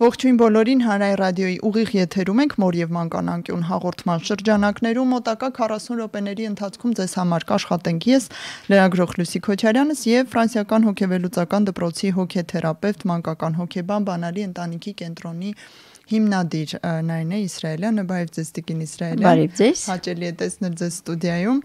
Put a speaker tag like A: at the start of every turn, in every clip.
A: Ողջույն բոլորին, Հանրայ ռադիոյի ուղիղ եթերում ենք Մոր եւ Մանկան անկյուն հաղորդման շրջանակներում մոտակա 40 րոպեների ընթացքում ձեզ համար կաշխատենք ես, լրագրող Լուսի Քոչարյանս եւ ֆրանսիական հոգեվերլուծական դպրոցի հոգեթերապևտ, մանկական հոգեբան, բանալի ընտանիքի կենտրոնի հիմնադիր Նայնե Իսրայելյանը, բարև ձեզ Տիկին Իսրայելյան։
B: Բարև ձեզ։
A: Հաճելի է տեսնել ձեզ ստուդիայում։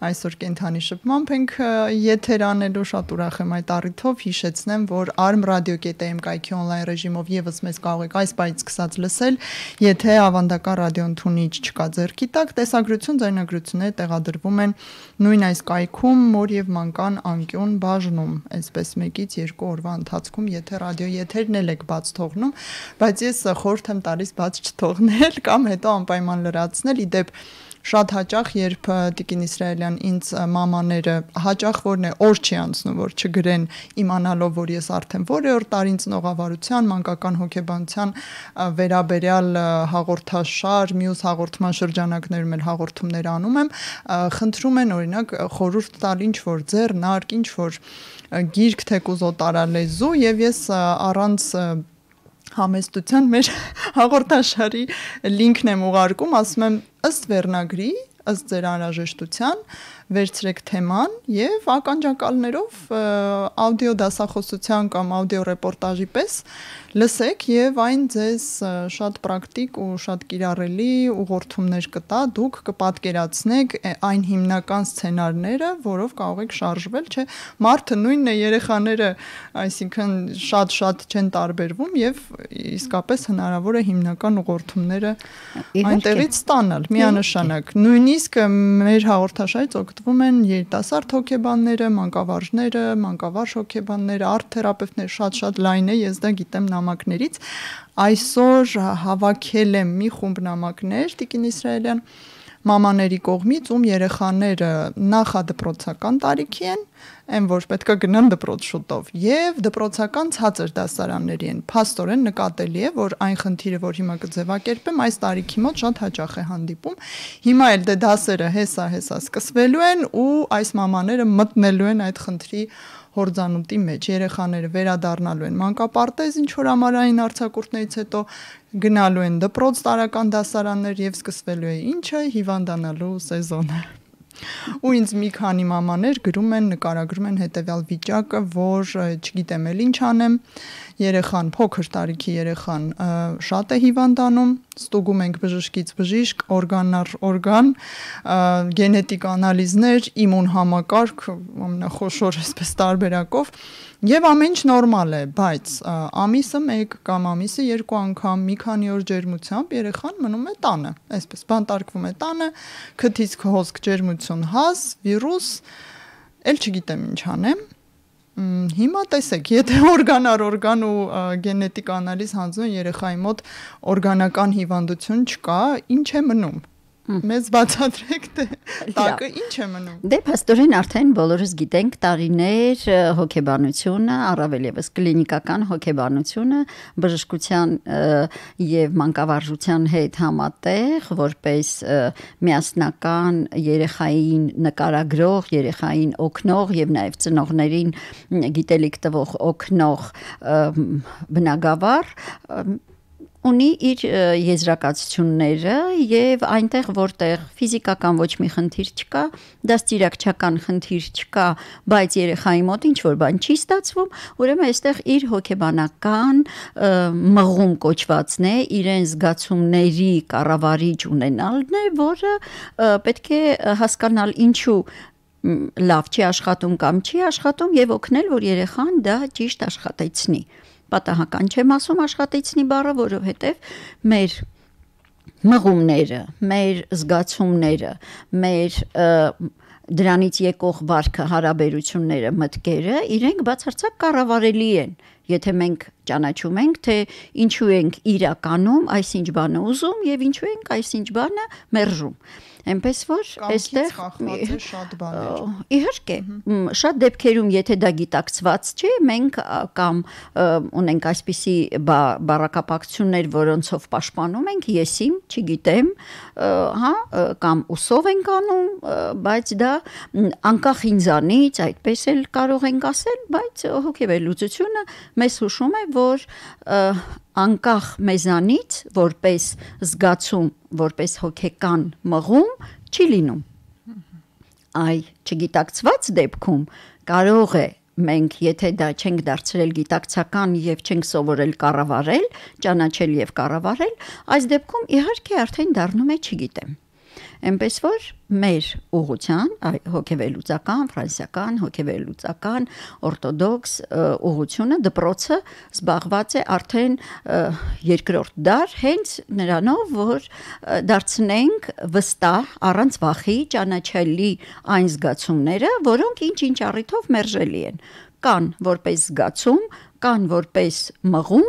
A: Այսօր կենթանի շփմամբ ենք եթեր անելու, շատ ուրախ եմ այդ առիթով, հիշեցնեմ, որ Arm Radio.am կայքի on-line ռեժիմով եւս մեզ կարող եք այս բայից սկսած լսել, եթե ավանդական ռադիոընդունիչ չկա ձեռքի տակ, տեսագրություն, ձայնագրությունները տեղադրվում են նույն այս կայքում Մոր եւ Մանկան անկյուն բաժնում, այսպես 1-ից 2 օրվա ընթացքում, եթե ռադիոյի եթերն եք բաց թողնում, բայց ես խորհուրդ եմ տալիս բաց չթողնել կամ հետո անպայման լրացնել, իդեպ շատ հաճախ, երբ Տիկին Իսրայելյան ինձ մամաները հաճախ որն է օր չի անցնում, որ չգրեն իմանալով, որ ես արդեն որևէ տարին ծնողավարության, մանկական հոգեբանության վերաբերյալ հաղորդաշար, մյուս հաղորդման շրջանակներում էլ հաղորդումներ անում եմ, խնդրում են օրինակ խորհուրդ տալ ինչ որ ձեռնարկ, ինչ որ գիրք թեկուզ օտարալեզու եւ ես առանց համեստության մեր հաղորդաշարի լինքն եմ ուղարկում, ասում եմ ըստ վերնագրի, ըստ ձեր անհրաժեշտության վերցրեք թեման եւ ականջակալներով աուդիո դասախոսության կամ աուդիո ռեպորտաժի պես լսեք եւ այն ձեզ շատ պրակտիկ ու շատ կիրառելի ուղղորդումներ կտա, դուք կպատկերացնեք այն հիմնական սցենարները, որով կարող եք շարժվել, չէ, մարդը նույնն է, երեխաները, այսինքն շատ չեն տարբերվում եւ իսկապես հնարավոր է հիմնական ուղղորդումները այնտեղից ստանալ միանշանակ։ Նույնիսկ մեր հաղորդաշարից օգտվում են երիտասարդ հոգեբանները, մանկավարժները, մանկավարժ հոգեբանները, արտ-թերապևտները, շատ լայն է, ես դա գիտեմ նամակներից։ Այսօր հավաքել եմ մի խումբ նամակներ, Տիկին Իսրայելյան, մամաների կողմից, ում երեխաները նախադպրոցական տարիքի են, այն որ պետք է գնան դպրոց շուտով, եւ դպրոցական ցածր դասարանների են։ Փաստորեն նկատելի է, որ այն խնդիրը, որ հիմա կձևակերպեմ, այս տարիքի մոտ շատ հաճախ է հանդիպում։ Հիմա էլ դե դասերը հեսա սկսվելու են ու այս մամաները մտնելու են այդ խնդրի հորձանուտի մեջ, երեխաները վերադառնալու են մանկապարտեզ, ինչ որ ամառային արձակուրդներից հետո գնալու են դպրոց, տարական դասարաններ եւ սկսվելու է ինչը հիվանդանալու սեզոնը։ Ու ինձ մի քանի մամաներ գրում են, նկարագրում են հետեւյալ վիճակը, որ չգիտեմ էլ ինչ անեմ, երեխան, փոքր տարիքի երեխան շատ է հիվանդանում, ստուգում ենք բժշկից բժիշկ, օրգան առ օրգան, գենետիկ անալիզներ, իմուն համակարգ, ամենախոշոր այսպես տարբերակով, եւ ամեն ինչ նորմալ է, բայց ամիսը 1 կամ ամիսը 2 անգամ մի քանի օր ջերմությամբ երեխան մնում է տանը, այսպես բանտարկվում է տանը, քթից հոսք ջերմություն հազ, վիրուս, էլ չգիտեմ ինչ անեմ։ Հիմա տեսեք, եթե օրգան առ օրգան ու գենետիկ անալիզ հանձնում են երեխայի մոտ օրգանական հիվանդություն չկա, ինչ է մնում։ Մեզ բացատրեք տակը ինչ է մնում։
B: Դե փաստորեն արդեն բոլորս գիտենք տարիներ հոգեբանությունը, առավել եւս կլինիկական հոգեբանությունը բժշկության եւ մանկավարժության հետ համատեղ, որպես միասնական երեխային նկարագրող, երեխային օգնող եւ նաեւ ծնողներին գիտելիք տվող օգնող բնագավառ ունի իր եզրակացությունները եւ այնտեղ որտեղ ֆիզիկական ոչ մի խնդիր չկա, դաստիարակչական խնդիր չկա, բայց երեխայի մոտ ինչ որ բան չի ստացվում, ուրեմն այստեղ իր հոգեբանական մղում կոչվածն է, իրեն զգացումների կառավարիչ ունենալն է, որը պետք է հասկանալ ինչու լավ չի աշխատում կամ չի աշխատում եւ օգնել, որ երեխան դա ճիշտ աշխատեցնի։ Պատահական չեմ ասում աշխատեցնի բառը, որովհետև մեր մղումները, մեր զգացումները, մեր դրանից եկող վարքը, հարաբերությունները, մտքերը իրենք բացարձակ կառավարելի են, եթե մենք ճանաչում ենք, թե ինչու ենք իրականում այսինչ բանը ուզում եւ ինչու ենք այսինչ բանը մերժում։ Այնպես որ այստեղ
A: շատ բաներ։
B: Իհարկե, շատ դեպքերում, եթե դա գիտակցված չէ, մենք կամ ունենք այսպիսի բառակապակցություններ, որոնցով պաշտպանում ենք, եսիմ, չգիտեմ, հա, կամ ուսով ենք անում, բայց դա անկախ ինձանից, այդպես էլ կարող ենք ասել, բայց հոգեվերլուծությունը մեզ հուշում է, որ անկախ մեզանից որպես զգացում, որպես հոգեկան մղում չի լինում։ Այ չգիտակցված դեպքում կարող է մենք եթե դա չենք դարձրել գիտակցական եւ չենք սովորել կառավարել, ճանաչել եւ կառավարել, այս դեպքում իհարկե արդեն դառնում է չգիտեմ։ Այնպես որ մեր ուղղության, հոգեվերլուծական, ֆրանսիական, հոգեվերլուծական, օրթոդոքս ուղղությունը դպրոցը զբաղված է արդեն երկրորդ դար հենց նրանով, որ դարձնենք վստահ, առանց վախի ճանաչելի այն զգացումները, որոնք ինչ-ինչ առիթով մերժելի են։ Կան որպես զգացում, կան որպես մղում,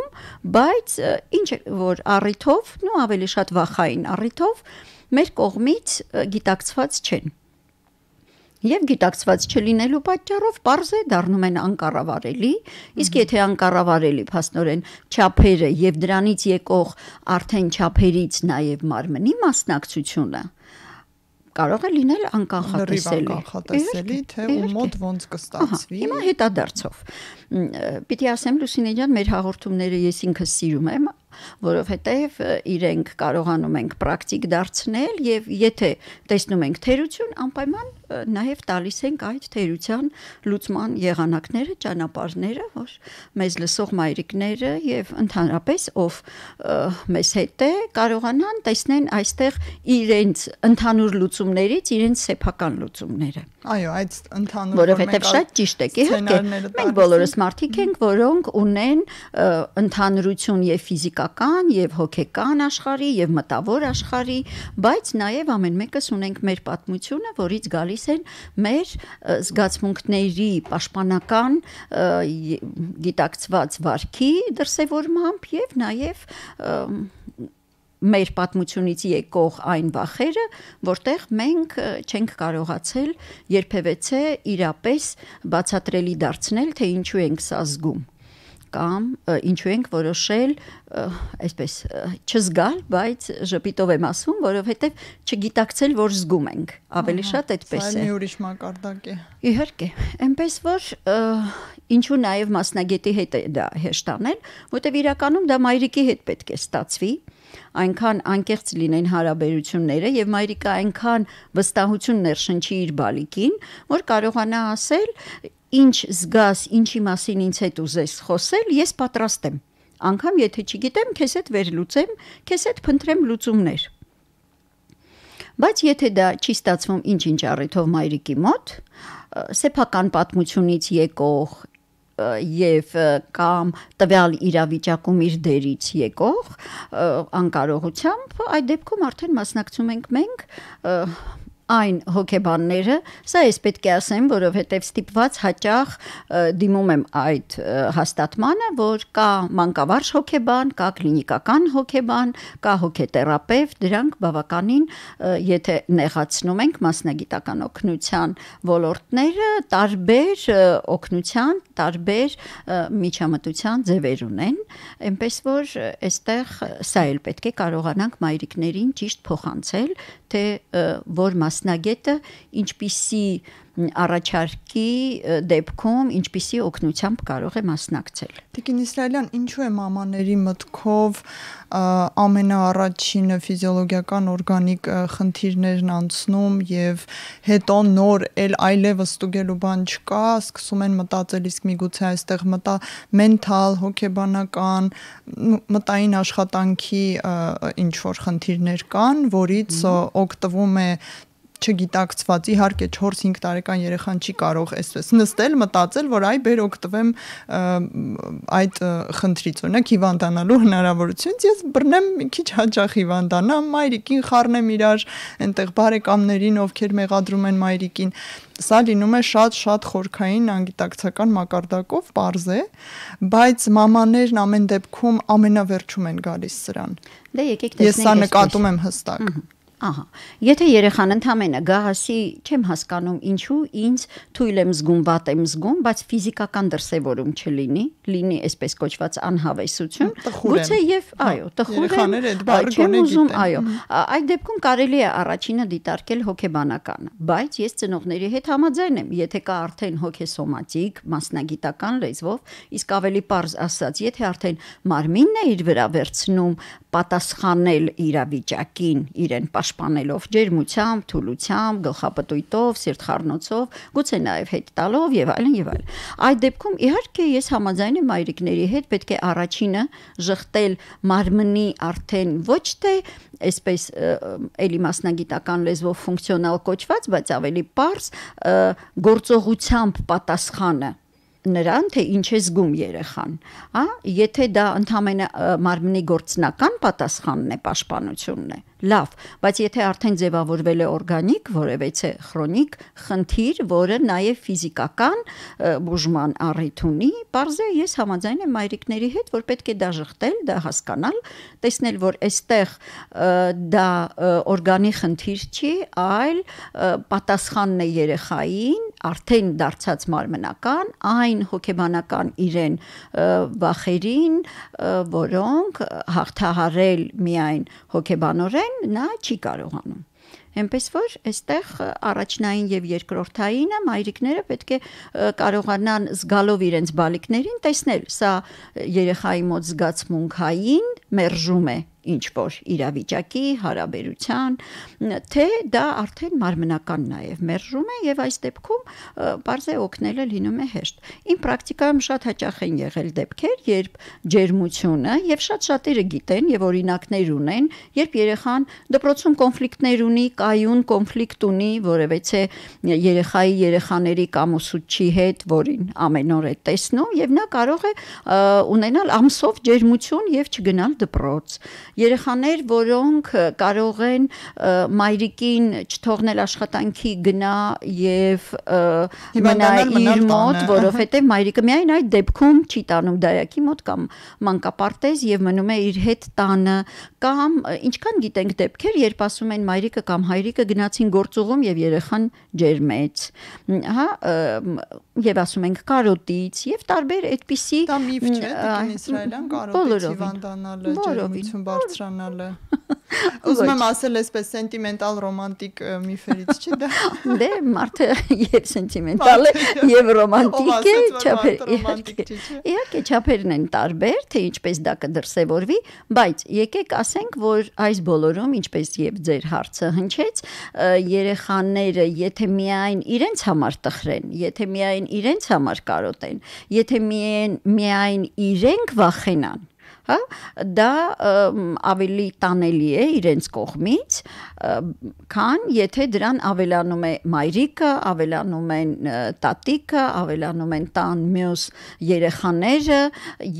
B: բայց ինչ որ առիթով, ավելի շատ վախային առիթով մեր կողմից գիտակցված չեն։ Եվ գիտակցված չլինելու պատճառով պարզ է դառնում են անկառավարելի, իսկ եթե անկառավարելի փաստորեն չափերը եւ դրանից եկող արդեն չափերից նաեւ մարմնի մասնակցությունը կարող է լինել
A: անկանխատեսելի, թե ու մոտ ոնց կստացվի։
B: Հիմա հետադարձով։ Պիտի ասեմ Լուսինե ջան, մեր հաղորդումները ես ինքս սիրում եմ, որովհետև իրենք կարողանում ենք պրակտիկ դարձնել եւ եթե տեսնում ենք թերություն, անպայման նաեւ տալիս ենք այդ թերության լուծման եղանակները, ճանապարհները, որ մեզ լսող մայրիկները եւ ընդհանրապես ով մեզ հետ է կարողանան տեսնեն այստեղ իրենց ընդհանուր լուծումներից իրենց սեփական լուծումները։
A: Այո, այդ ընդհանուր
B: որովհետև շատ ճիշտ է, իհարկե մենք բոլորս մարդիկ ենք, որոնք ունեն ընդհանրություն եւ ֆիզիկական եւ հոգեկան աշխարհի եւ մտավոր աշխարհի, բայց նաեւ ամեն մեկս ունենք մեր պատմությունը, որից գալիս են մեր զգացմունքների պաշտպանական գիտակցված վարքի դրսևորմամբ եւ նաեւ մեր պատմությունից եկող այն վախերը, որտեղ մենք չենք կարողացել երբևէ իրապես բացատրելի դարձնել, թե ինչու ենք սա զգում կամ ինչու ենք որոշել այսպես չզգալ, բայց ժպիտով եմ ասում, որովհետև չգիտակցել, որ զգում ենք։ Ավելի շատ այդպես է։
A: Սա մի ուրիշ մակարդակ է։
B: Իհարկե, այնպես որ ինչու նաև մասնագետի հետ է դա հեշտ անել, որտեղ իրականում դա մայրիկի հետ պետք է ստացվի, այնքան անկեղծ լինեն հարաբերությունները եւ մայրիկը այնքան վստահություն ներշնչի իր բալիկին, որ կարողանա ասել ինչ զգաս, ինչի մասին ինձ հետ ուզես խոսել, ես պատրաստ եմ։ Անկամ եթե չգիտեմ, քեզ հետ վերլուծեմ, քեզ հետ փնտրեմ լուծումներ։ Բայց եթե դա չի ստացվում ինչ-ինչ առիթով մայրիկի մոտ, սեփական պատմությունից եկող եւ կամ տվյալ իրավիճակում իր դերից եկող անկարողությամբ, այդ դեպքում արդեն մասնակցում ենք մենք այն հոգեբանները, սա ես պետք է ասեմ, որովհետև ստիպված հաճախ դիմում եմ այդ հաստատմանը, որ կա մանկավարժ հոգեբան, կա կլինիկական հոգեբան, կա հոգետերապևտ, դրանք բավականին, եթե նեղացնում ենք մասնագիտական օգնության ոլորտները, տարբեր օգնության, տարբեր միջամտության ձևեր ունեն, այնպես որ այստեղ սա էլ պետք է կարողանանք մայրիկներին ճիշտ փոխանցել, թե որ մասնագետը ինչպիսի առաջարկի դեպքում ինչպիսի օգնությամբ կարող է մասնակցել։
A: Տիկին Իսրայելյան, ինչու է մամաների մտքով ամենաառաջինը ֆիզիոլոգիական օրգանիկ խնդիրներն անցնում եւ հետո նոր այլևս ստուգելու բան չկա, սկսում են մտածել, իսկ միգուցե այստեղ մենթալ, հոգեբանական, մտային աշխատանքի ինչ որ խնդիրներ կան, որից օգտվում է չգիտակցված, իհարկե 4-5 տարեկան երեխան չի կարող այսպես նստել, մտածել, որ այ բեր օգտվեմ այդ խնդրից, օրինակ հիվանդանալու հնարավորությունից, ես բռնեմ մի քիչ հաճախ հիվանդանամ, մայրիկին խառնեմ իրար, այնտեղ բարեկամներին, ովքեր մեղադրում են մայրիկին, սա լինում է շատ խորքային անգիտակցական մակարդակով, պարզ է, բայց մամաներն ամեն դեպքում ամենավերջում են գալիս սրան։
B: Դե եկեք տեսնենք։
A: Ես սա նկատում եմ հստակ։
B: Ահա, եթե երեխան ընդամենը գահասի, չեմ հասկանում ինչու ինձ թույլ եմ զգում, վատ եմ զգում, բայց ֆիզիկական դրսևորում լինի այսպես կոչված անհավեսություն, գուցե եւ այո, տխուր եմ, չեմ ուզում, այո, այդ դեպքում կարելի է առաջինը դիտարկել հոգեբանական, բայց ես ծնողների հետ համաձայն եմ, եթե կա արդեն հոգեսոմատիկ, մասնագիտական լեզվով, իսկ ավելի պարզ ասած, եթե արդեն մարմինն է իր վրա վերցնում պատասխանել իրավիճակին, իրեն պաշտպանելով ջերմությամբ, թուլությամբ, գլխապտույտով, սիրտխառնոցով, գուցե նաև հետ տալով եւ այլն եւ այլն։ Այդ դեպքում իհարկե ես համաձայն եմ մայրիկների հետ, պետք է առաջինը ժխտել մարմնի արդեն ոչ թե այսպես էլի մասնագիտական լեզվով ֆունկցիոնալ կոչված, բայց ավելի պարզ գործողությամբ պատասխանը նրան թե ինչ է զգում երեխան, եթե դա ընդամենը մարմնի գործնական պատասխանն է, պաշտպանությունն է, լավ, բայց եթե արդեն ձևավորվել է օրգանիկ, որևէ քրոնիկ խնդիր, որը նաև ֆիզիկական բուժման առիթ ունի, պարզ է ես համաձայն եմ մայրիկների հետ, որ պետք է դա ժխտել, դա հասկանալ, տեսնել, որ այստեղ դա օրգանի խնդիր չի, այլ պատասխանն է երեխային, արդեն դարձած մարմնական, այն հոգեբանական իրեն վախերին, որոնք հաղթահարել միայն հոգեբանորեն նա չի կարողանում։ Էնպես որ այստեղ առաջնային եւ երկրորդայինը մայրիկները պետք է կարողանան զգալով իրենց բալիկներին տեսնել, սա երեխայի մոտ զգացմունքային մերժում է ինչ որ իրավիճակի, հարաբերության, թե դա արդեն մարմնական նաև մերժում է եւ այս դեպքում պարզ է օգնելը լինում է հեշտ։ Իմ պրակտիկայում շատ հաճախ են եղել դեպքեր, երբ ջերմությունը եւ շատ շատերը գիտեն եւ օրինակներ ունեն, երբ երեխան դպրոցում կոնֆլիկտներ ունի, կայուն կոնֆլիկտ ունի որևէ երեխաների կամ ուսուցչի հետ, որին ամեն օր է տեսնում եւ նա կարող է ունենալ ամսով ջերմություն եւ չգնալ դպրոց։ Երեխաներ, որոնք կարող են մայրիկին չթողնել աշխատանքի գնա եւ մնա իր մոտ, որովհետեւ մայրիկը միայն այդ դեպքում չի տանում դայակի մոտ կամ մանկապարտեզ եւ մնում է իր հետ տանը, կամ ինչքան գիտենք դեպքեր, երբ ասում են մայրիկը կամ հայրիկը գնացին գործուղում եւ երեխան ջերմեց, հա, եւ ասում ենք կարոտից եւ տարբեր այդպիսի
A: դա միֆ չէ, դեպի Իսրայելյան կարոտից հիվանդանալը, ջերմություն բարձրանալը։ Ուզում եմ ասել այսպես սենտիմենտալ ռոմանտիկ միֆերից չի դա։
B: Դե մարդը եւ սենտիմենտալ է եւ ռոմանտիկ է, իհարկե չափերն են տարբեր, թե ինչպես դա կդրսևորվի, բայց եկեք ասենք, որ այս բոլորում, ինչպես եւ ձեր հարցը հնչեց, երեխաները եթե միայն իրենց համար տխրեն, եթե միայն իրենց համար կարոտեն, եթե միայն իրենք վախենան, հա, դա ավելի տանելի է իրենց կողմից, քան եթե դրան ավելանում է մայրիկը, ավելանում են տատիկը, ավելանում են տան մյուս երեխաները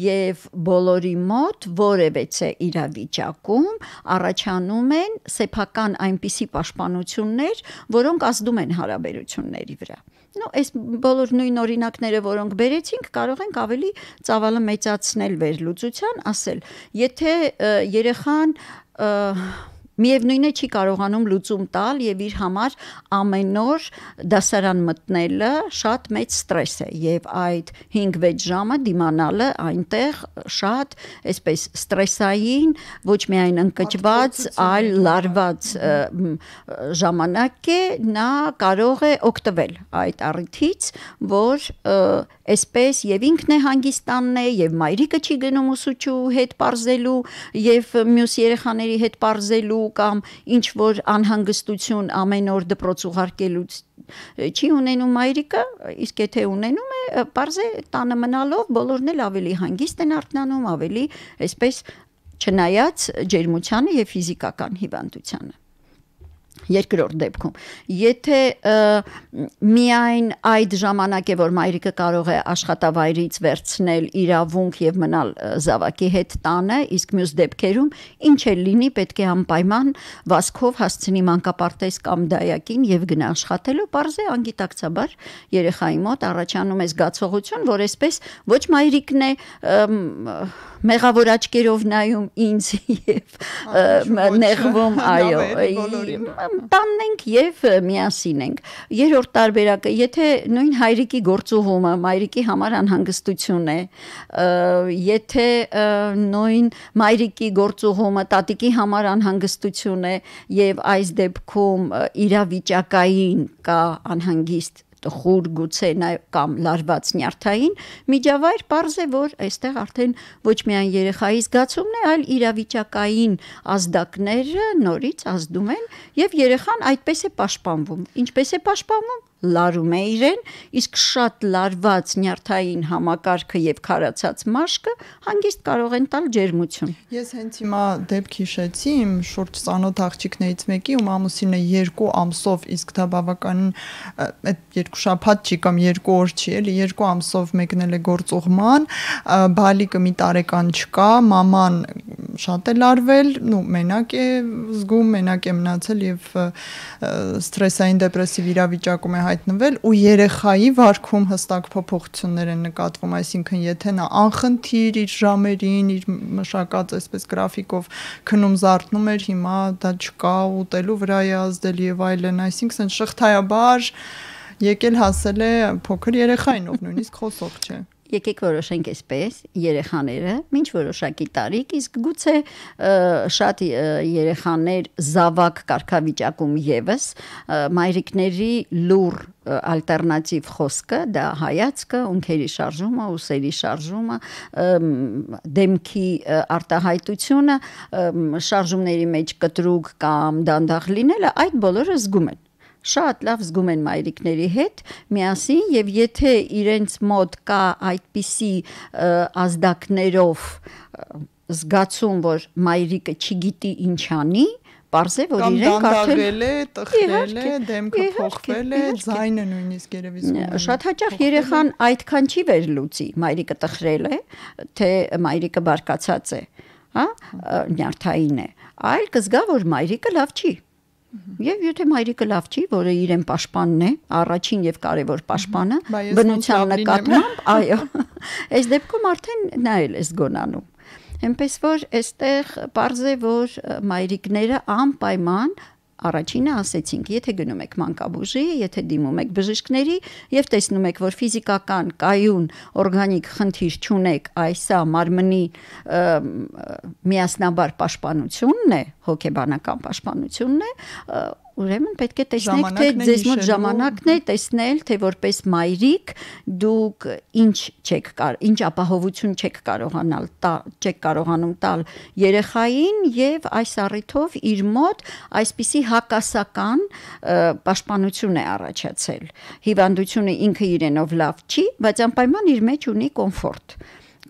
B: եւ բոլորի մոտ որևէ իրավիճակում առաջանում են սեփական այնպիսի պաշտպանություններ, որոնք ազդում են հարաբերությունների վրա։ Այս բոլոր նույն օրինակները, որոնք բերեցինք, կարող ենք ավելի ծավալը մեծացնել վերլուծության, ասել, եթե երեխան միևնույն է չի կարողանում լուծում տալ եւ իր համար ամեն օր դասարան մտնելը շատ մեծ ստրես է եւ այդ 5-6 ժամը դիմանալը այնտեղ շատ այսպես ստրեսային, ոչ միայն ընկճված, այլ լարված ժամանակ է, նա կարող է օգտվել այդ առիթից, որ այսպես եւ ինքն է հանգստանն է եւ մայրիկը չի գնում ուսուցչու հետ պարզելու եւ մյուս երեխաների հետ պարզելու կամ ինչ որ անհանգստություն ամեն օր դպրոց ուղարկելուց չի ունենում մայրիկը, իսկ եթե ունենում է, պարզ է տանը մնալով բոլորն էլ ավելի հանգիստ են արթնանում, ավելի այսպես չնայած ջերմությանը եւ ֆիզիկական հիվանդությանը։ Երկրորդ դեպքում եթե միայն այդ ժամանակ է որ մայրիկը կարող է աշխատավայրից վերցնել իրավունք եւ մնալ զավակի հետ տանը, իսկ մյուս դեպքերում ինչ էլ լինի պետք է անպայման վազքով հասցնի մանկապարտեզ կամ դայակին եւ գնա աշխատելու, պարզ է անգիտակցաբար երեխայի մոտ առաջանում է զգացողություն, որ այսպես ոչ մայրիկն է մեղավոր աչքերով նայում ինձ եւ նեղվում, այո, տանն ենք եւ միասին ենք։ Երրորդ տարբերակը, եթե նույն հայրիկի գործուղումը մայրիկի համար անհանգստություն է, եթե նույն մայրիկի գործուղումը տատիկի համար անհանգստություն է եւ այս դեպքում իրավիճակային կա անհանգիստ խուր գուցե կամ լարված նյարդային միջավայր, պարզ է որ այստեղ արդեն ոչ միայն երեխայի զգացումն է, այլ իրավիճակային ազդակները նորից ազդում են եւ երեխան այդպես է պաշտպանվում։ Ինչպես է պաշտպանվում։ Լարում է իրեն, իսկ շատ լարված նյարդային համակարգը եւ քարացած մաշկը հանգիստ կարող են տալ ջերմություն։
A: Ես հենց հիմա դեպք հիշեցի իմ շուրջ ծանոթ աղջիկներից մեկի, ում ամուսինը 2 ամսով, իսկ դա բավականին այդ 2 շաբաթ չի կամ 2 օր չի, էլի 2 ամսով մեկնել է գործուղման, բալիկը մի տարեկան չկա, մաման շատ է լարվել, մենակ է զգում, մենակ է մնացել եւ սթրեսային դեպրեսիվ իրավիճակում է հայտնվել ու երեխայի վարքում հստակ փոփոխություններ են նկատվում, այսինքն եթե նա անխնդիր իր ժամերին, իր մշակած այսպես գրաֆիկով քնում զարթնում էր, հիմա դա չկա, ուտելու վրա է ազդել եւ այլն, այսինքն շղթայաբար եկել հասել է փոքր երեխային, ով նույնիսկ խոսող չէ։
B: Եկեք որոշենք այսպես երեխաները մինչ որոշակի տարիք, իսկ գուցե շատ երեխաներ զավակ կարգավիճակում եւս մայրիկների լուր ալտերնատիվ խոսքը, դա հայացքը, ունքերի շարժումը, ուսերի շարժումը, դեմքի արտահայտությունը, շարժումների մեջ կտրուկ կամ դանդաղ լինելը, այդ բոլորը զգում են։ Շատ լավ զգում են մայրիկների հետ միասին եւ եթե իրենց մոտ կա այդպիսի ազդակներով զգացում, որ մայրիկը չգիտի ինչ անի, պարզ է, որ իրենք
A: արդեն դանդաղել է, տխրել է, դեմքը փոխվել է, ձայնը նույնիսկ երևի զգում է։
B: Շատ հաճախ երեխան այդքան չի վերլուծի, մայրիկը տխրել է, թե մայրիկը բարկացած է, հա, նյարդային է, այլ կզգա, որ մայրիկը լավ չի։ Եվ եթե մայրիկը լավ չի, որը իրեն պաշտպանն է, առաջին եւ կարեւոր պաշտպանը, բնության նկատմամբ, այո, այս դեպքում արդեն նա էլ է զգոնանում։ Այնպես որ այստեղ պարզ է, որ մայրիկները անպայման Առաջինը ասեցինք, եթե գնում եք մանկաբուժի, եթե դիմում եք բժիշկների եւ տեսնում եք, որ ֆիզիկական կայուն օրգանիկ խնդիր չունեք, այսա մարմնի միասնաբար պաշտպանությունն է, հոգեբանական պաշտպանությունն է, ուրեմն պետք է տեսնեք, թե ձեզ մոտ ժամանակն է տեսնել, թե որպես մայրիկ դուք ինչ ապահովություն չեք կարողանում տալ երեխային եւ այս առիթով իր մոտ այսպիսի հակասական պաշտպանություն է առաջացել։ Հիվանդությունը ինքը իրենով լավ չի, բայց անպայման իր մեջ ունի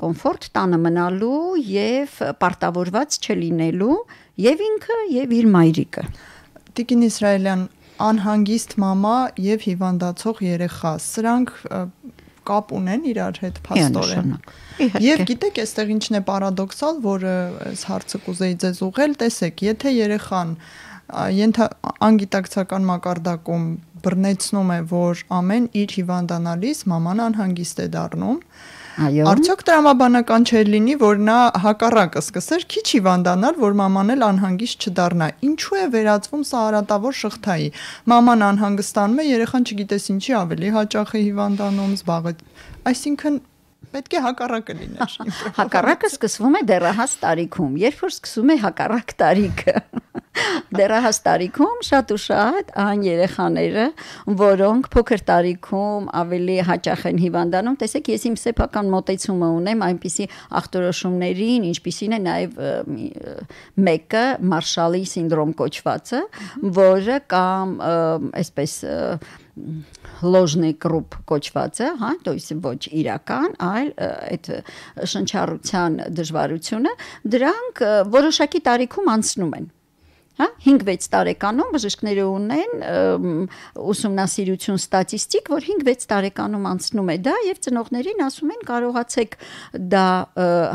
B: կոմֆորտ տանը մնալու եւ պարտավորված չլինելու եւ ինքը եւ իր մայրիկը։
A: Տիկին Իսրայելյան, անհանգիստ մամա եւ հիվանդացող երեխա, սրանք կապ ունեն իրար հետ փաստորեն։ Եվ գիտեք, այստեղ ինչն է պարադոքսալ, որը այս հարցը կուզեի ձեզ ուղղել, տեսեք, եթե երեխան անգիտակցական մակարդակում բռնեցնում է, որ ամեն իր հիվանդանալիս մաման անհանգիստ է դառնում, արդյոք տրամաբանական չէր լինի, որ նա հակառակը սկսեր քիչ հիվանդանալ, որ մաման էլ անհանգիստ չդառնա։ Ինչու է վերածվում սա արատավոր շղթայի։ Մաման անհանգստանում է, երեխան չգիտես ինչի ավելի հաճախ է հիվանդանում, զբաղվում։ Այսինքն պետք է հակառակը լիներ։
B: Հակառակը սկսվում է դեռահաս տարիքում, երբ որ սկսում է հակառակ տարիքը։ Դեռահաս տարիքում շատ ու շատ այն երեխաները, որոնք փոքր տարիքում ավելի հաճախ են հիվանդանում, տեսեք, ես իմ սեփական մոտեցումը ունեմ այնպիսի ախտորոշումներին, ինչպիսին է նաև մեկը Մարշալի սինդրոմ կոչվածը, որը կամ այսպես ложный կրուպ կոչվածը, հա, то есть ոչ իրական, այլ այդ շնչառության դժվարությունը, դրանք որոշակի տարիքում անցնում են։ Հա 5-6 տարեկանում բժիշկները ունեն ուսումնասիրություն ստատիստիկ, որ 5-6 տարեկանում անցնում է դա եւ ծնողներին ասում են կարողացեք դա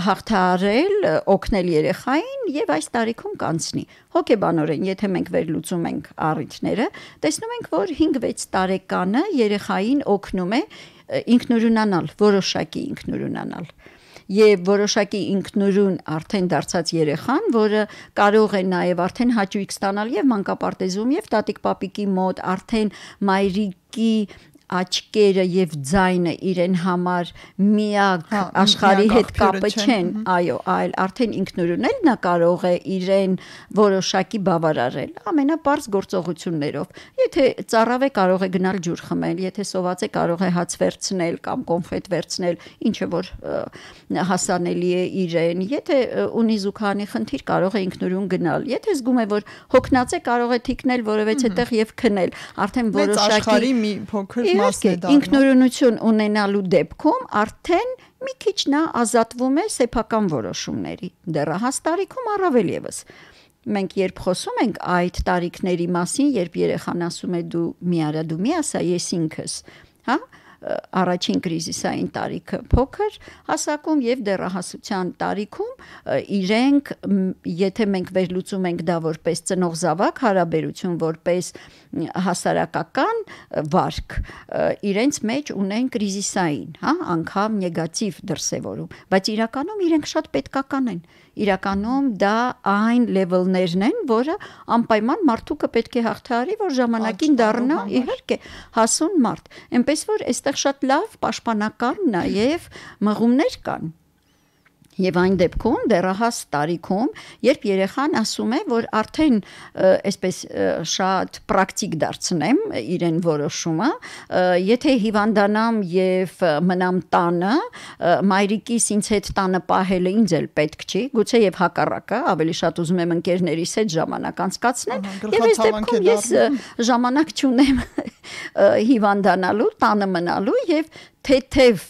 B: հաղթահարել, օգնել երեխային եւ այս տարիքում կանցնի։ Հոգեբանորեն, եթե մենք վերլուծում ենք առիթները, տեսնում ենք, որ 5-6 տարեկանը երեխային օգնում է ինքնուրույնանալ, որոշակի ինքնուրույնանալ։ Եվ որոշակի ինքնուրույն արդեն դարձած երեխան, որը կարող է նաև արդեն հաճույք ստանալ եւ մանկապարտեզում եւ տատիկ-պապիկի մոտ, արդեն մայրիկի աչքերը եւ ձայնը իրեն համար միակ աշխարհի հետ կապը չեն, այո, այլ արդեն ինքնուրույն նա կարող է իրեն որոշակի բավարարել ամենապարզ գործողություններով։ Եթե ծառավ է կարող է գնալ ջուր խմել, եթե սոված է կարող է հաց վերցնել կամ կոնֆետ վերցնել, ինչը որ հասանելի է իրեն, եթե ունի զուգահանի խնդիր կարող է ինքնուրույն գնալ, եթե զգում է որ հոգնած է կարող է թիկնել որևէ տեղ եւ քնել, արդեն որոշակի աշխարհի մի փոքր ինքնուրույնություն ունենալու դեպքում արդեն մի քիչ նա ազատվում է սեփական որոշումների, դեռահաս տարիքում առավել եւս։ Մենք երբ խոսում ենք այդ տարիքների մասին, երբ երեխան ասում է դու մի արա, դու մի ասա, ես ինքս, հա, առաջին կրիզիսային տարիքը փոքր հասակում եւ դեռահասության տարիքում իրենք եթե մենք վերլուծում ենք դա որպես ծնող զավակ հարաբերություն որպես հասարակական վարք իրենց մեջ ունեն կրիզիսային, հա, անգամ նեգատիվ դրսևորում, բայց իրականում իրենք շատ պետքական են։ Իրականում դա այն լեվելներն են, որը անպայման մարդուկը պետք է հաղթահարի, որ ժամանակին դառնա իհարկե հասուն մարդ։ Այնպես որ այստեղ շատ լավ պաշտպանական նաև մղումներ կան։ Եվ այն դեպքում դեռահաս տարիքում, երբ երեխան ասում է, որ արդեն այսպես շատ պրակտիկ դարձնեմ իրեն որոշումը, եթե հիվանդանամ եւ մնամ տանը, մայրիկիս ինձ հետ տանը պահելը ինձ էլ պետք չի, գուցե եւ հակառակը, ավելի շատ ուզում եմ ընկերներիս հետ ժամանակ անցկացնել, եւ այս դեպքում ես ժամանակ չունեմ հիվանդանալու, տանը մնալու եւ թեթև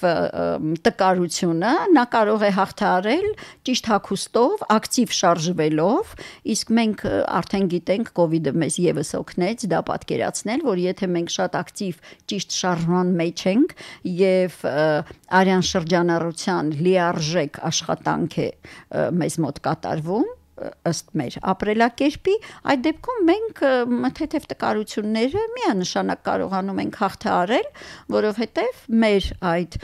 B: տկարությունը նա կարող է հաղթահարել ճիշտ հագուստով, ակտիվ շարժվելով, իսկ մենք արդեն գիտենք կովիդը մեզ եւս օգնեց դա պատկերացնել, որ եթե մենք շատ ակտիվ ճիշտ շարժման մեջ ենք եւ արյան շրջանառության լիարժեք աշխատանք է մեզ մոտ կատարվում ըստ մեր ապրելակերպի, այդ դեպքում մենք թեթև տկարությունները միանշանակ կարողանում ենք հաղթահարել, որովհետև մեր այդ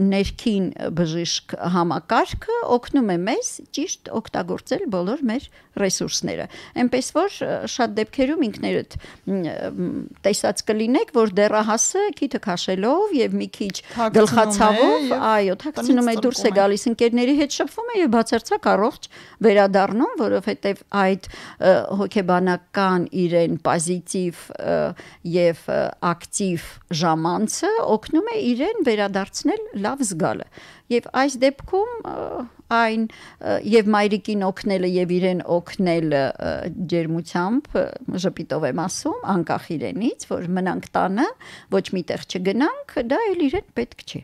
B: ներքին բժիշկ համակարգը օգնում է մեզ ճիշտ օգտագործել բոլոր մեր ռեսուրսները։ Այնպես որ շատ դեպքերում ինքներդ տեսած կլինեք, որ դեռահասը քիթը քաշելով եւ մի քիչ գլխացավով, այո, թաքցնում է դուրս է գալիս ընկերների հետ շփվում է եւ բացարձակ առողջ վերադառնում, որովհետև այդ հոգեբանական իրեն պոզիտիվ եւ ակտիվ ժամանցը օգնում է իրեն վերադարձնել լավ զգալը։ Եվ այս դեպքում այն եւ մայրիկին օգնելը եւ իրեն օգնելը ջերմությամբ ժպիտով եմ ասում, անկախ իրենից, որ մնանք տանը, ոչ միտեղ չգնանք, դա էլ իրեն պետք չի։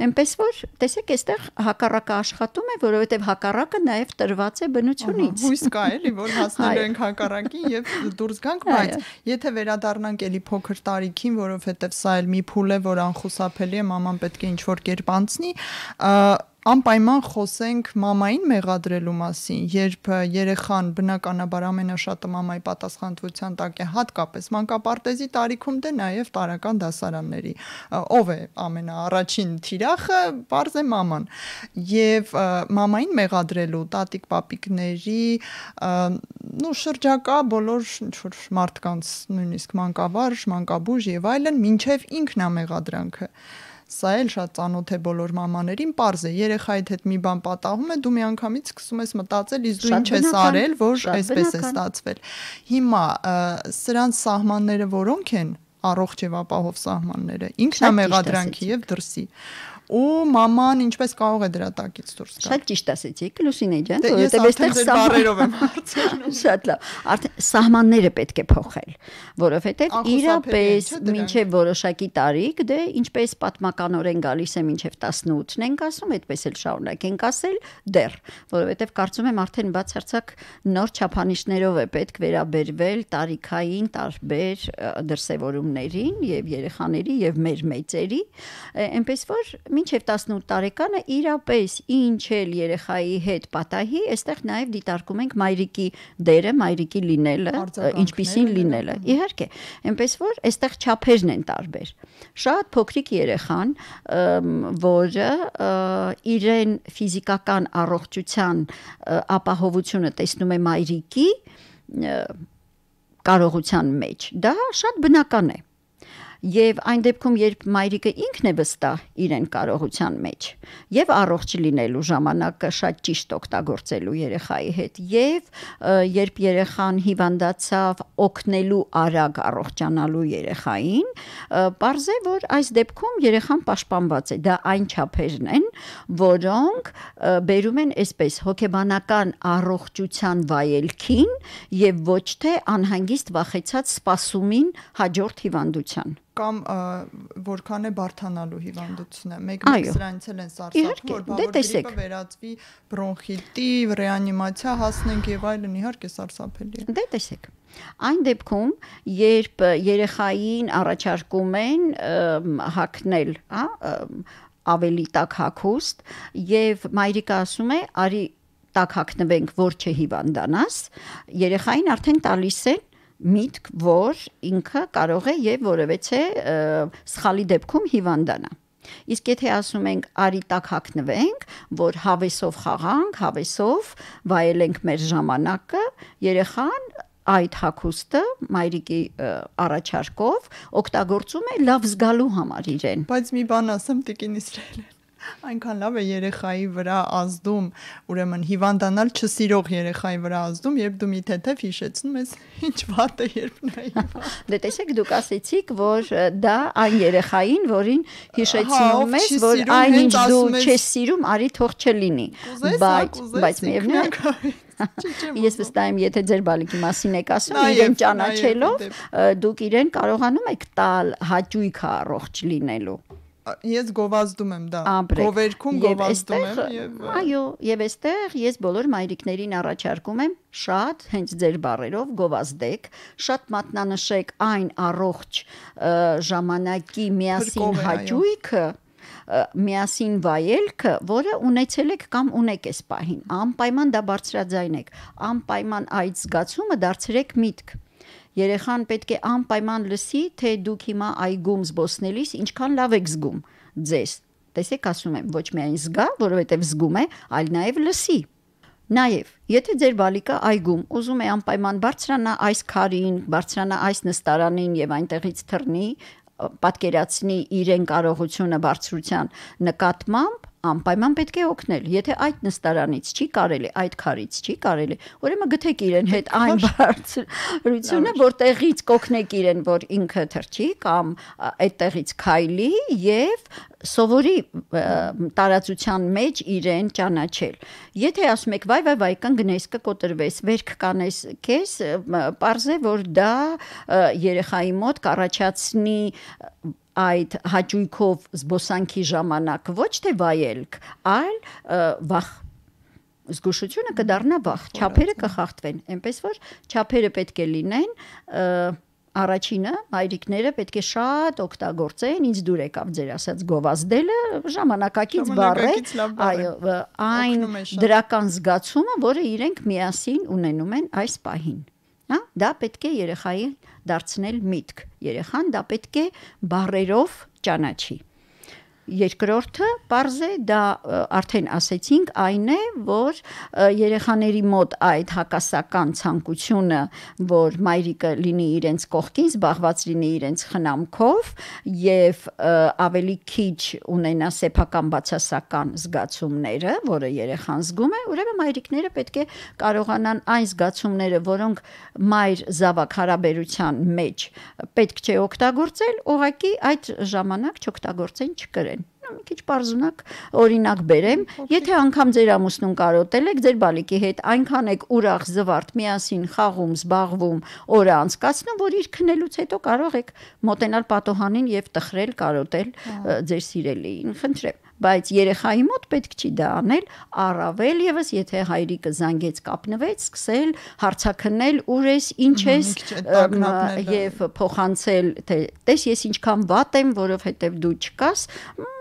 B: Այնպես որ տեսեք, այստեղ հակառակը աշխատում է, որովհետև հակառակը նաև տրված է բնությունից։
A: Հույս կա էլի, որ հասնելու ենք հակառակին եւ դուրս գանք, բայց եթե վերադառնանք էլի փոքր տարիքին, որովհետև սա էլ մի փուլ է, որ անխուսափելի է, մաման պետք է ինչ-որ կերպ անցնի, անպայման խոսենք մամային մեղադրելու մասին, երբ երեխան բնականաբար ամենաշատը մամայի պատասխանատվության տակ է, հատկապես մանկապարտեզի տարիքում դե նաև տարական դասարանների, ով է ամենաառաջին թիրախը, պարզ է մաման, եւ մամային մեղադրելու տատիկ պապիկների շրջակա բոլոր ինչ-որ մարդկանց, նույնիսկ մանկավարժ, մանկաբույժ եւ այլն, մինչեւ ինքնամեղադրանքը Սա էլ շատ ծանոթ է բոլոր մամաներին, պարզ է, երեխայիդ հետ մի բան պատահում է, դու միանգամից սկսում ես մտածել, իսկ դու ինչ ես արել, որ այսպես է ստացվել։ Հիմա սրանց սահմանները որոնք են, առողջ եւ ապահով սահմանները, ինքնամեղադրանքի եւ դրսի։ Ու մաման ինչպես կարող է դրա տակից դուրս գալ։
B: Շատ ճիշտ ասեցիք, Լուսինե ջան,
A: որովհետեւ այստեղ բառերով եմ հարցնում։
B: Շատ լավ։ Արդեն սահմանները պետք է փոխել, որովհետեւ իրապես մինչեւ որոշակի տարիք, դե ինչպես պատմականորեն գալիս է մինչեւ 18-ն ենք ասում, այդպես էլ շարունակենք ասել դեռ, որովհետեւ կարծում եմ արդեն բացարձակ նոր չափանիշներով է պետք վերաբերվել տարիքային տարբեր դրսևորումներին եւ երեխաների եւ մեր մեծերի, այնպես որ մինչև 18 տարեկանը իրապես ինչ էլ երեխայի հետ պատահի, այստեղ նաև դիտարկում ենք մայրիկի դերը, մայրիկի լինելը, ինչպիսին լինելը։ Իհարկե, այնպես որ այստեղ չափերն են տարբեր։ Շատ փոքրիկ երեխան, որը իրեն ֆիզիկական առողջության ապահովությունը տեսնում է մայրիկի կարողության մեջ, դա շատ բնական է։ Եվ այն դեպքում, երբ մայրիկը ինքն է վստահ իրեն կարողության մեջ եւ առողջ լինելու ժամանակը շատ ճիշտ օգտագործելու երեխայի հետ եւ երբ երեխան հիվանդացավ օգնելու արագ առողջանալու երեխային, պարզ է, որ այս դեպքում երեխան պաշտպանված է, դա այն չափերն են, որոնք բերում են այսպես հոգեբանական առողջության վայելքին եւ ոչ թե անհանգիստ վախեցած սպասումին հաջորդ հիվանդության
A: կամ որքան է բարթանալու հիվանդությունը։ Մեկ-մեկ սրանից էլ են սարսափում, որ բավարար գրիպը վերածվի բրոնխիտի, ռեանիմացիա հասնենք եւ այլն, իհարկե սարսափելի է։
B: Դե տեսեք։ Այն դեպքում, երբ երեխային առաջարկում են հագնել, ավելի տաք հագուստ եւ մայրիկը ասում է, արի տաք հագնվենք, որ չհիվանդանաս, երեխային արդեն տալիս են միտք, որ ինքը կարող է եւ որևէ սխալի դեպքում հիվանդանա։ Իսկ եթե ասում ենք արի տակ հագնվենք, որ հավեսով խաղանք, հավեսով վայելենք մեր ժամանակը, երեխան այդ հագուստը մայրիկի առաջարկով օգտագործում է լավ զգալու համար իրեն։
A: Բայց մի բան ասեմ Տիկին Իսրայելին։ Այնքան լավ է երեխայի վրա ազդում, ուրեմն հիվանդանալ չսիրող երեխայի վրա ազդում, երբ դու մի թեթև հիշեցնում ես ինչ վատ է, երբ նա հիվանդ։
B: Դե տեսեք, դուք ասեցիք, որ դա այն երեխային, որին հիշեցնում ես, որ այն ինչ դու չես սիրում, արի թող չլինի։ Բայց միևնույն է Ես վստահ եմ, եթե ձեր բալիկի մասին եք ասում, իրեն ճանաչելով, դուք իրեն կարողանում եք տալ հաճույքը առողջ լինելու։
A: Ես գովազդում եմ դա, գովերքում գովազդում եմ եւ
B: այո, եւ այստեղ ես բոլոր մայրիկներին առաջարկում եմ շատ հենց ձեր բառերով գովազդեք, շատ մատնանշեք այն առողջ ժամանակի միասին հաճույքը, միասին վայելքը, որը ունեցել եք կամ ունեք այս պահին, անպայման դա բարձրաձայնեք, անպայման այդ զգացումը դարձրեք միտք։ Երեխան պետք է անպայման լսի, թե դուք հիմա այգում զբոսնելիս ինչքան լավ եք զգում ձեզ։ Տեսեք, ասում եմ, ոչ միայն զգա, որովհետև զգում է, այլ նաև լսի։ Նաև, եթե ձեր բալիկը այգում ուզում է անպայման բարձրանա այս քարին, բարձրանա այս նստարանին եւ այնտեղից թռնի, պատկերացնի իրեն կարողությունը բարձրության նկատմամբ, անպայման պետք է օգնել։ Եթե այդ նստարանից չի կարելի, այդ քարից չի կարելի, ուրեմն գտեք իրեն հետ այն բարձրությունը, որտեղից կօգնեք իրեն, որ ինքը թռչի կամ այդտեղից քայլի եւ սովորի տարածության մեջ իրեն ճանաչել։ Եթե ասում եք վայ, կընկնես, կկոտրվես, վերք կանես քեզ, պարզ է, որ դա երեխայի մոտ կառաջացնի այդ հաճույքով զբոսանքի ժամանակ ոչ թե վայելք, այլ վախ զգուշությունը կդառնա վախ, չափերը կխախտվեն, այնպես որ չափերը պետք է լինեն, առաջինը մայրիկները պետք է շատ օգտագործեն, ինձ դուր եկավ ձեր ասած գովազդելը, ժամանակակից բառ է, այո, այն դրական զգացումը, որը իրենք միասին ունենում են այս պահին։ Դա պետք է երեխայի դարձնել միտք։ Երեխան դա պետք է բառերով ճանաչի։ Երկրորդը պարզ է, դա արդեն ասեցինք, այն է, որ երեխաների մոտ այդ հակասական ցանկությունը, որ մայրիկը լինի իրենց կողքին, զբաղված լինի իրենց խնամքով եւ ավելի քիչ ունենա սեփական բացասական զգացումները, որը երեխան զգում է, ուրեմն մայրիկները պետք է կարողանան այն զգացումները, որոնք մայր-զավակ հարաբերության մեջ պետք չէ օգտագործել, ուղղակի այդ ժամանակ չօգտագործեն, չկրեն։ Մի քիչ պարզունակ օրինակ բերեմ, եթե անգամ ձեր ամուսնուն կարոտել եք, ձեր բալիկի հետ այնքան եք ուրախ զվարթ միասին խաղում, զբաղվում, օրը անցկացնում, որ իր քնելուց հետո կարող եք մոտենալ պատոհանին եւ տխրել, կարոտել ձեր սիրելիին, խնդրեմ, բայց երեխայի մոտ պետք չի դա անել, առավել եւս եթե հայրիկը զանգեց, կապնվեց, սկսել հարցաքննել, ուր ես, ինչ ես եւ փոխանցել, թե տես ես ինչքան վատ եմ, որովհետեւ դու չկաս,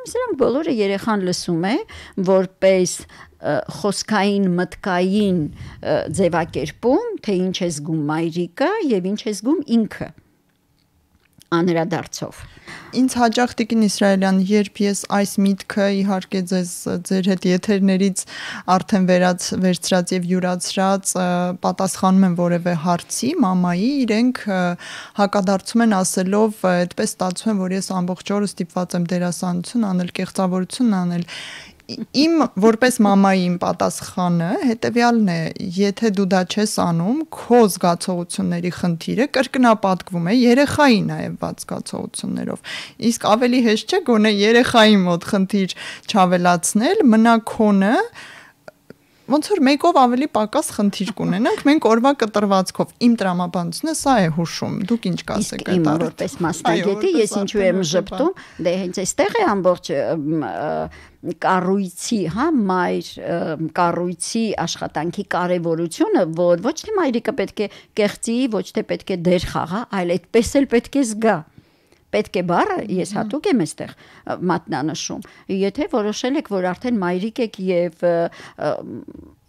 B: սրանք բոլորը երեխան լսում է, որպես խոսքային մտկային ձևակերպում, թե ինչ է զգում մայրիկը եւ ինչ է զգում ինքը անդրադարձով։
A: Ինձ հաճախ Տիկին Իսրայելյան, երբ ես այս միտքը իհարկե ձեր հետ եթերներից արդեն վերցրած եւ յուրացրած պատասխանում են որևէ հարցի, մամայի, իրենք հակադարձում են ասելով, այդպես ստացվում է, որ ես ամբողջ օրը ստիպված եմ դերասանություն անել, կեղծավորություն անել։ Իմ որպես մամայի իմ պատասխանը հետեւյալն է, եթե դու դա չես անում, քո զգացողությունների խնդիրը կրկնապատկվում է երեխայի նաեւ զգացողություններով։ Իսկ ավելի հեշտ չէ գոնե երեխայի մոտ խնդիր չավելացնել, մնա քոնը, ոնց որ մեկով ավելի պակաս խնդիր կունենանք, մենք օրվա կտրվածքով իմ տրամաբանությունը սա է հուշում, դուք ինչ կասեք
B: այդ առ որպես մասնագետի, ես ինչու եմ ժպտում, դե հենց այստեղ է ամբողջ կառույցի, հա, մայր կառույցի աշխատանքի կարևորությունը, որ ոչ թե մայրիկը պետք է կեղծի, ոչ թե պետք է դեր խաղա, այլ այդպես էլ պետք է զգա։ Պետք է բառը ես հատուկ եմ այստեղ մատնանշում։ Եթե որոշել եք, որ արդեն մայրիկ եք եւ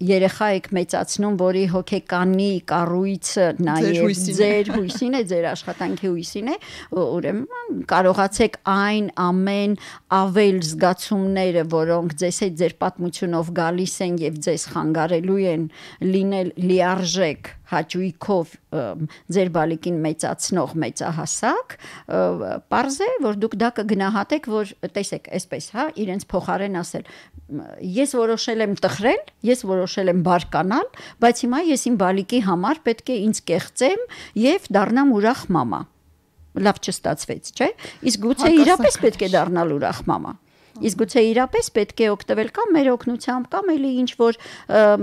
B: երեխա եք մեծացնում, որի հոգեկանի կառույցը նաեւ ձեր հույսին է, ձեր աշխատանքի հույսին է, ուրեմն կարողացեք այն ամեն ավել զգացումները, որոնք ձեզ հետ ձեր պատմությունով գալիս են եւ ձեզ խանգարելու են լինել լիարժեք հաճույքով ձեր բալիկին մեծացնող մեծահասակ, պարզ է, որ դուք դա կգնահատեք, որ տեսեք, այսպես, հա, իրենց փոխարեն ասել, ես որոշել եմ տխրել, ես որոշել եմ բարկանալ, բայց հիմա ես իմ բալիկի համար պետք է ինձ կեղծեմ եւ դառնամ ուրախ մամա։ Լավ չստացվեց, չէ՞։ Իսկ գուցե իրապես պետք է դառնալ ուրախ մամա։ Իսկ գուցե իրապես պետք է օգտվել կամ մեր օգնությամբ, կամ էլի ինչ որ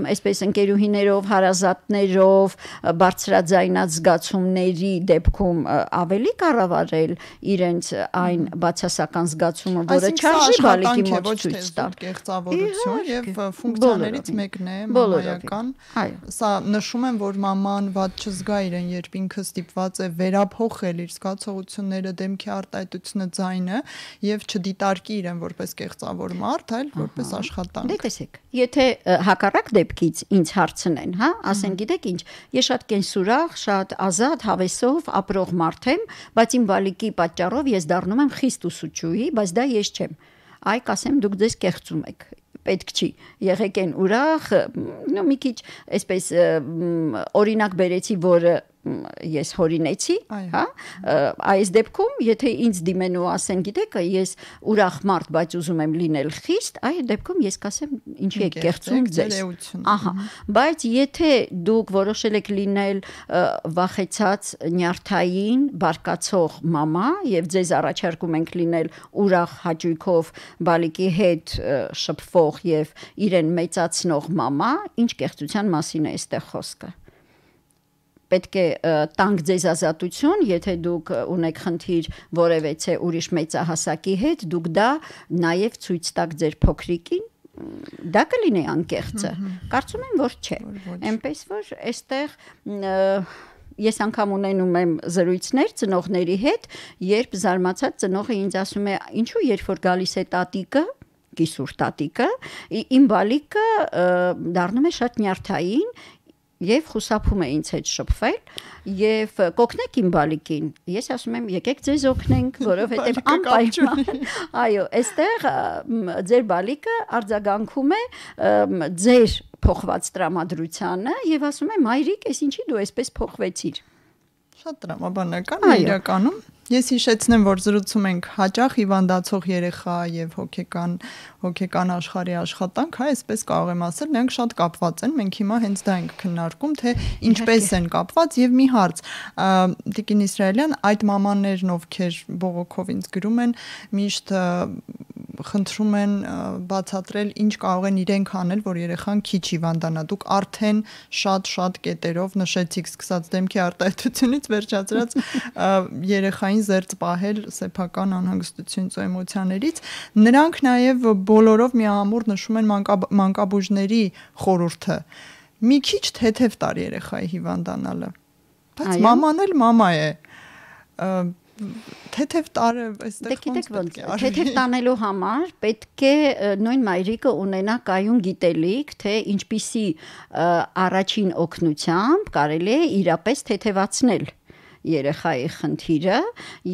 B: այսպես ընկերուհիներով, հարազատներով, բարձրաձայնած զգացումների դեպքում ավելի կառավարել իրենց այն բացասական զգացումը, որը չարժի բալիկի մոտ ցույց տալ։
A: Կեղծավորություն եւ ֆունկցիաներից մեկն է մամայական։ Սա նշում եմ, որ մաման ված չզգա իրեն, երբ ինքը ստիպված է վերափոխել իր զգացողությունները, դեմքի արտահայտությունը, ձայնը եւ չդիտարկի իրեն որպես կեղծավոր մարդ, այլ որպես աշխատանք։
B: Դե տեսեք, եթե հակառակ դեպքից ինձ հարցնեն, հա, ասեն, գիտեք ինչ, ես շատ կենսուրախ, շատ ազատ, հավեսով ապրող մարդ եմ, բայց իմ բալիկի պատճառով ես դառնում եմ խիստ ուսուցչուհի, բայց դա ես չեմ։ Այ կասեմ, դուք ձեզ կեղծում եք։ Պետք չի, եղեք են ուրախ, մի քիչ այսպես օրինակ բերեցի, որը ես հորինեցի, հա, այս դեպքում, եթե ինձ դիմեն ու ասեն, գիտեք, ես ուրախ մարդ, բայց ուզում եմ լինել խիստ, այդ դեպքում ես կասեմ, ինչի եք կեղծում ձեզ։ Ահա, բայց եթե դուք որոշել եք լինել վախեցած, նյարդային, բարկացող մամա եւ ձեզ առաջարկում ենք լինել ուրախ հաճույքով բալիկի հետ շփվող եւ իրեն մեծացնող մամա, ինչ կեղծության մասին է այստեղ խոսքը։ Պետք է տանք ձեզ ազատություն, եթե դուք ունեք խնդիր որևէ ուրիշ մեծահասակի հետ, դուք դա նաև ցույց տաք ձեր փոքրիկին, դա կլինի անկեղծը։ Կարծում եմ, որ չէ։ Էնպես որ այստեղ ես անգամ ունենում եմ զրույցներ ծնողների հետ, երբ զարմացած ծնողը ինձ ասում է, ինչու երբ որ գալիս է տատիկը, կիսուր տատիկը, իմ բալիկը դառնում է շատ նյարդային, եւ խուսափում է ինձ հետ շփվել եւ կօգնեք իմ բալիկին ես ասում եմ եկեք ձեզ օգնենք որովհետեւ անպայման այո այստեղ ձեր բալիկը արձագանքում է ձեր փոխված տրամադրությանը եւ ասում է մայրիկ ես ինչի դու այսպես փոխվեցիր
A: շատ տրամաբանական է իրականում Ես հիշեցնեմ, որ զրուցում ենք հաճախ հիվանդացող երեխա եւ հոգեկան աշխարհի աշխատանք, հա, այսպես կարող եմ ասել, նրանք շատ կապված են, մենք հիմա հենց դա ենք քննարկում, թե ինչպես են կապված եւ մի հարց։ Տիկին Իսրայելյան, այդ մամաներն, ովքեր բողոքով ինձ գրում են, միշտ խնդրում են բացատրել ինչ կարող են իրենք անել, որ երեխան քիչ հիվանդանա։ Դուք արդեն շատ կետերով նշեցիք, սկսած դեմքի արտահայտությունից վերջացրած երեխային զերծ պահել սեփական անհանգստությունից ու էմոցիաներից։ Նրանք նաև բոլորով միամուռ նշում են մանկաբույժների խորհուրդը։ Մի քիչ թեթև տար երեխայի հիվանդանալը։ Բայց մաման էլ մամա է։ Թեթև տարը այստեղ
B: թեթև տանելու համար պետք է նույն մայրիկը ունենա կայուն գիտելիք, թե ինչպիսի առաջին օգնությամբ կարելի է իրապես թեթևացնել երեխայի խնդիրը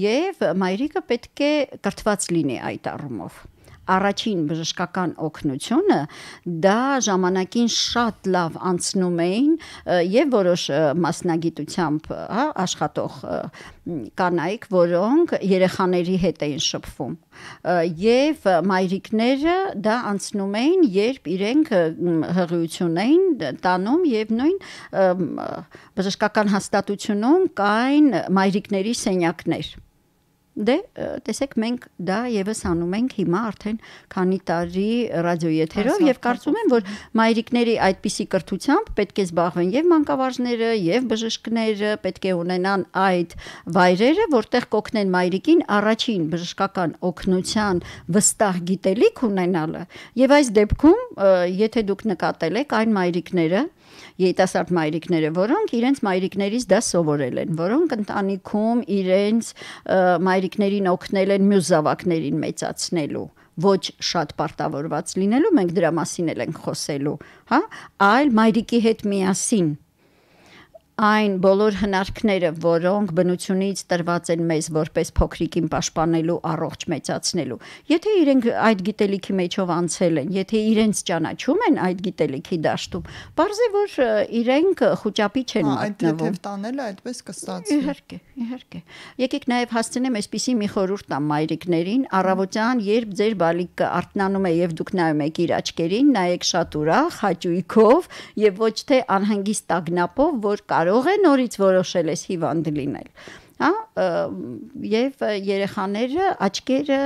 B: եւ մայրիկը պետք է կրթված լինի այդ առումով առաջին բժշկական օգնությունը դա ժամանակին շատ լավ անցնում էին եւ որոշ մասնագիտությամբ աշխատող կանայք, որոնք երեխաների հետ էին շփվում եւ մայրիկները դա անցնում էին, երբ իրենք հղիություն էին տանում եւ նույն բժշկական հաստատությունում կային մայրիկների սենյակներ Դե տեսեք մենք դա եւս անում ենք հիմա արդեն քանի տարի ռադիոեթերով եւ կարծում եմ որ մայրիկների այդպիսի կրթությամբ պետք է զբաղվեն եւ մանկավարժները եւ բժիշկները պետք է ունենան այդ վայրերը որտեղ կօգնեն մայրիկին առաջին բժշկական օգնության վստահ գիտելիք ունենալը եւ այս դեպքում եթե դուք նկատել եք այն մայրիկները երիտասարդ մայրիկները, որոնք իրենց մայրիկներից դա սովորել են, որոնք ընտանիքում իրենց մայրիկներին օգնել են մյուս զավակներին մեծացնելու, ոչ շատ պարտավորված լինելու, մենք դրա մասին էլ ենք խոսելու, հա, այլ մայրիկի հետ միասին այն բոլոր հնարքները, որոնք բնությունից տրված են մեզ որպես փոքրիկին պաշտպանելու, առողջ մեծացնելու։ Եթե իրենք այդ գիտելիքի մեջով անցել են, եթե իրենց ճանաչում են այդ գիտելիքի դաշտում, բարձր որ իրենք խոճապի չեն մատնվում։
A: Այդ թեթև տանելը այդպես կստացվի։
B: Իհարկե։ Եկեք նաև հասցնեմ այսպիսի մի խորհուրդ տամ մայրիկներին, առավոտյան, երբ ձեր բալիկը արթնանում է եւ դուք նայում եք իր աչքերին, նայեք շատ ուրախ, հաճույքով եւ ոչ թե անհանգիստ տագնապով, որ կարող է նորից որոշել ես հիվանդ լինել հա եւ երեխաները աչքերը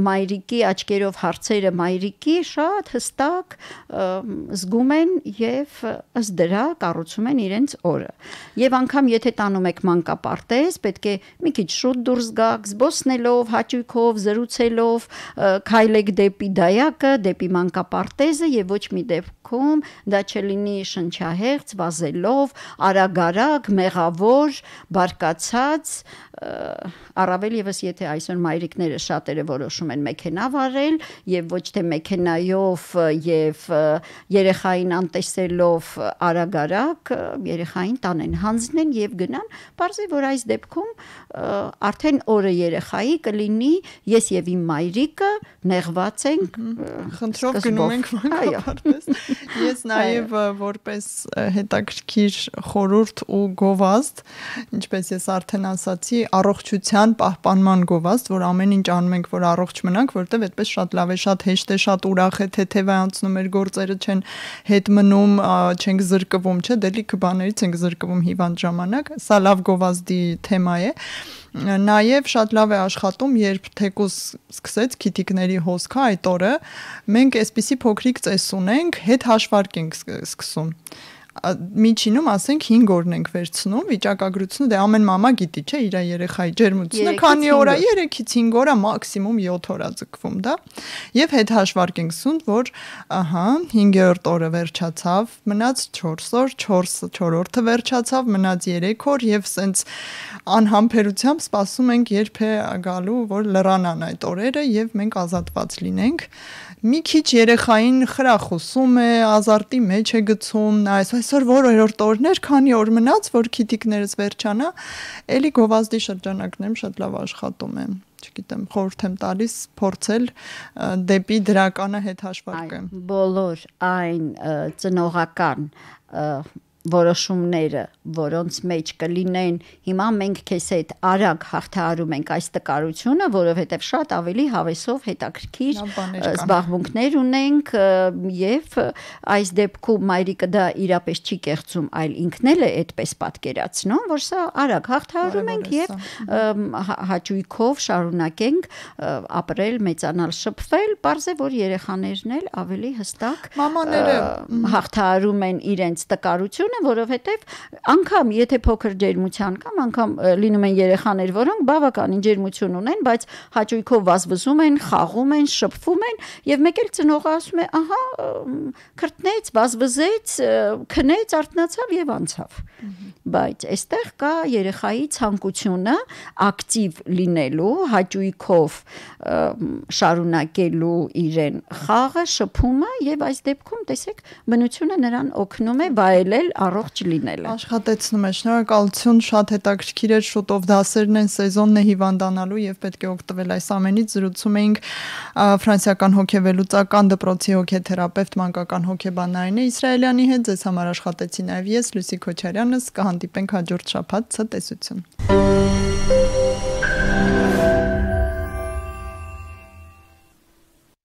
B: մայրիկի աչքերով հարցերը մայրիկի շատ հստակ զգում են եւ ըստ դրա կառուցում են իրենց օրը եւ անգամ եթե տանում եք մանկապարտեզ պետք է մի քիչ շուտ դուրս գաք զբոսնելով հաճույքով զրուցելով քայլեք դեպի դայակը դեպի մանկապարտեզը եւ ոչ մի դեպքում դա չլինի շնչահեղձ վազելով արագ մեղավոր բարկացած առավել եւս եթե այսօր մայրիկները շատերը որոշում են մեքենա վարել եւ ոչ թե մեքենայով եւ երեխային անտեսելով արագ երեխային տանեն հանձնեն եւ գնան բարձր որ այս դեպքում արդեն օրը երեխայի կլինի ես եւ իմ մայրիկը նեղված ենք
A: խնդրով գնում ենք մանկապարտեզ ես նաեւ որպես հետաքրքիր խորհուրդ ու գովազդ ինչպես ես արդեն ասացի առողջության պահպանման գովազդ, որ ամեն ինչ անում ենք, որ առողջ մնանք, որտեվ այդպես շատ լավ է, շատ հեշտ է, շատ ուրախ է, թեթև է անցնում մեր գործերը չեն հետ մնում, չենք զրկվում, չէ, դե լիքը բաներից ենք զրկվում հիվանդ ժամանակ, սա լավ գովազդի թեմա է։ Նաև շատ լավ է աշխատում, երբ թեկուզ սկսեց քիթիկների հոսքը այդ օրը, մենք այսպիսի փոքրիկ ծես ունենք, հետ հաշվարկ ենք սկսում։ Միջինում ասենք 5 օրն ենք վերցնում վիճակագրությունը դե ամեն մամա գիտի չէ իր երեխայի ջերմությունը քանի օր է 3-ից 5 օր է մաքսիմում 7 օր է ձգվում դա եւ հետ հաշվարկ ենք սուն որ ահա 5-րդ օրը վերջացավ մնաց 4 օր 4-րդը վերջացավ մնաց 3 օր եւ սենց անհամբերությամբ սպասում ենք երբ է գալու որ լրանան այդ օրերը եւ մենք ազատված լինենք մի քիչ երեխային խրախուսում է ազարտի մեջ է գցում նա այսօր այսօր որերորդ օրներ, քանի օր մնաց, որ քիթիկներս վերջանա, էլի գովազդի շրջանակներում շատ լավ աշխատում եմ։ Չգիտեմ, խորհուրդ եմ տալիս փորձել դեպի դրականը հետ հաշվարկել։
B: Բոլոր այն ծնողական որոշումները, որոնց մեջ կլինեն, հիմա մենք քեզ հետ արագ հաղթահարում ենք այս տկարությունը, որովհետև շատ ավելի հավեսով հետաքրքիր զբաղմունքներ ունենք եւ այս դեպքում մայրիկը դա իրապես չի կեղծում, այլ ինքն էլ է այդպես պատկերացնում, որ սա արագ հաղթահարում ենք եւ հաճույքով շարունակենք ապրել, մեծանալ, շփվել, պարզ է, որ երեխաներն էլ ավելի հստակ հաղթահարում են իրենց տկարությունը, որովհետև անգամ եթե փոքր ջերմության կամ անգամ լինում են երեխաներ, որոնք բավականին ջերմություն ունեն, բայց հաճույքով վազվզում են, խաղում են, շփվում են եւ մեկ էլ ծնողը ասում է, ահա, քրտնեց, վազվզեց, քնեց, արթնացավ եւ անցավ։ Բայց այստեղ կա երեխայի ցանկությունը ակտիվ լինելու, հաճույքով շարունակելու իրեն խաղը, շփումը եւ այս դեպքում տեսեք բնությունը նրան օգնում է վայելել առողջ լինելը։
A: Աշխատեցնում է, շնորհակալություն, շատ հետաքրքիր էր, շուտով դասերն են, սեզոնն է հիվանդանալու եւ պետք է օգտվել այս ամենից։ Զրուցում էինք ֆրանսիական հոգեվելուծական դպրոցի հոգեթերապևտ մանկական հոգեբան Նարինե Իսրայելյանի հետ։ Ձեզ համար աշխատեցի նաեւ ես, Լուսի Քոչարյանս, կհանդիպենք հաջորդ շաբաթ, ցտեսություն։